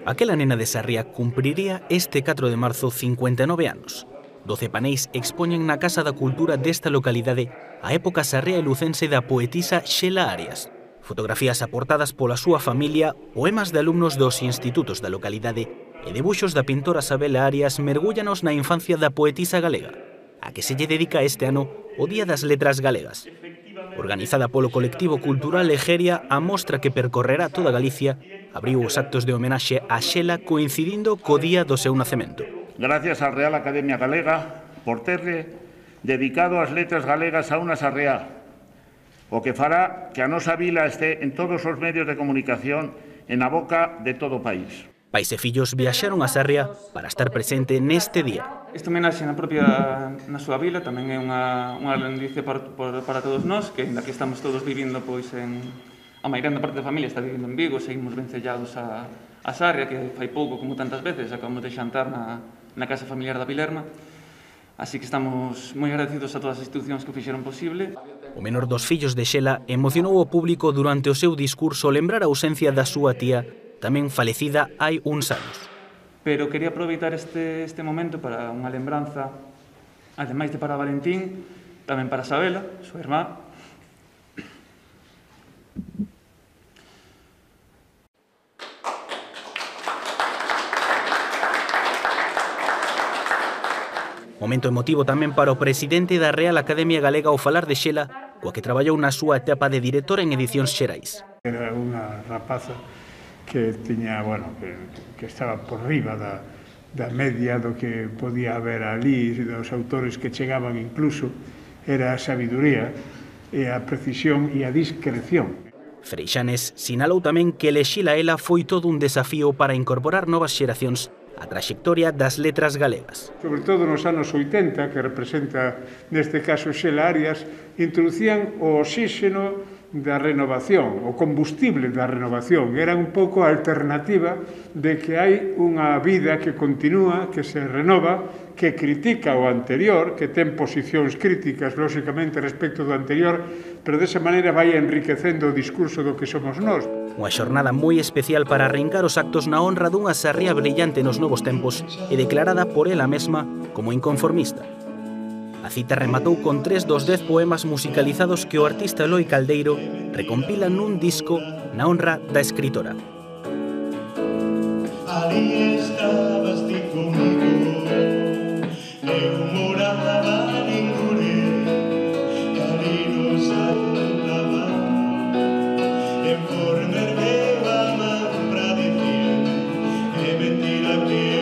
Aquela nena de Sarria cumpriría este 4 de marzo 59 anos. 12 paneis expoñen na Casa da Cultura desta localidade a época sarria e lucense da poetisa Xela Arias. Fotografías aportadas pola súa familia, poemas de alumnos dos institutos da localidade e debuxos da pintora Sabela Arias mergúllanos na infancia da poetisa galega, a que se lle dedica este ano o Día das Letras Galegas. Organizada polo colectivo cultural Egeria, a mostra que percorrerá toda Galicia abriu os actos de homenaxe a Xela coincidindo co día do seu nacemento. Gracias á Real Academia Galega por terle dedicado as letras galegas a unha sarriá, o que fará que a nosa vila este en todos os medios de comunicación e na boca de todo o país. Pais e fillos viaxaron a Sarria para estar presente neste día. Esta homenaxe na súa vila tamén é unha lendicia para todos nós, que ainda que estamos todos vivindo a maioría parte da familia está vivindo en Vigo, seguimos vencellados a Sarria, que fai pouco, como tantas veces, acabamos de xantar na casa familiar da Vilerna. Así que estamos moi agradecidos a todas as institucións que o fixeron posible. O menor dos fillos de Xela emocionou o público durante o seu discurso lembrar a ausencia da súa tía, tamén falecida hai uns anos. Pero quería aproveitar este momento para unha lembranza, ademais de para Valentín, tamén para Sabela, súa irmá. Momento emotivo tamén para o presidente da Real Academia Galega ao falar de Xela, coa que traballou na súa etapa de directora en Edicións Xerais. Era unha rapaza que tiña, que estaba por riba da media do que podía haber ali, dos autores que chegaban incluso, era a sabiduría e a precisión e a discreción. Freixanes sinalou tamén que elexila ela foi todo un desafío para incorporar novas xeracións a traxectoria das letras galegas. Sobre todo nos anos 80, que representa neste caso Xela Arias, introducían o oxíxeno da renovación, o combustible da renovación. Era un pouco a alternativa de que hai unha vida que continúa, que se renova, que critica o anterior, que ten posicións críticas, lóxicamente, respecto do anterior, pero desa maneira vai enriquecendo o discurso do que somos nós. Unha xornada moi especial para arrincar os actos na honra dunha sarria brillante nos novos tempos e declarada por ela mesma como inconformista. A cita rematou con 3 dos 10 poemas musicalizados que o artista Eloi Caldeiro recompila nun disco na honra da escritora. Ali estabas ti comigo, eu moraba en Lure, ali nos ajuntaba, en forma ergueu a man pra dicir, é mentira que